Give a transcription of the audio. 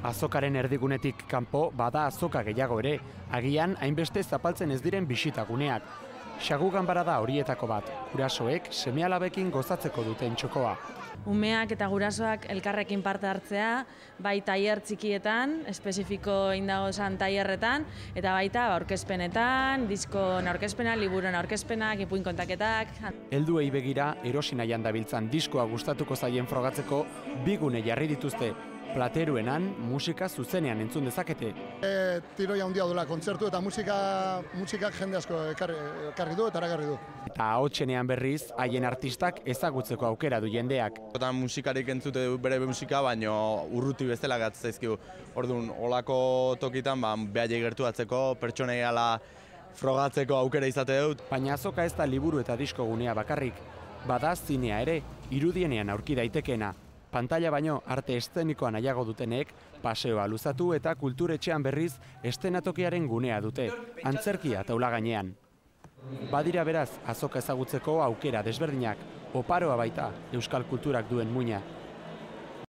Azokaren erdigunetik kanpo bada azoka gehiago ere, agian hainbeste zapaltzen ez diren bisitaguneak. Xagu ganbara da horietako bat, gurasoek seme-alabekin gozatzeko duten txokoa. Umeak eta gurasoak elkarrekin parte hartzea, bai tailer txikietan, espezifiko indagozan tailerretan, eta baita aurkezpenetan, diskon aurkezpenak, liburuen aurkezpenak, ipuin kontaketak. Helduei begira, erosi nahian dabiltzan diskoa gustatuko zaien frogatzeko bi gune jarri dituzte. Plateruenan musika zuzenean entzun dezakete. Tiroia handia dula kontzertu eta musikak jende asko ekarri du eta erakarri du. Eta ahotsenean berriz, haien artistak ezagutzeko aukera du jendeak. Musikarik entzute bere musika, baino urruti bezala gatzen zaizkigu. Orduan, olako tokitan, behaiek gertuatzeko, pertsonei ala frogatzeko aukera izate dut. Baina azoka ez da liburu eta disko gunea bakarrik. Bada zinea ere, irudienean aurki daitekeena. Pantalla baino arte eszenikoa nahiago dutenek, paseoa luzatu eta kulturetxean berriz eszenatokiaren gunea dute, antzerkia taula gainean. Badira beraz, azoka ezagutzeko aukera desberdinak, oparoa baita euskal kulturak duen muina.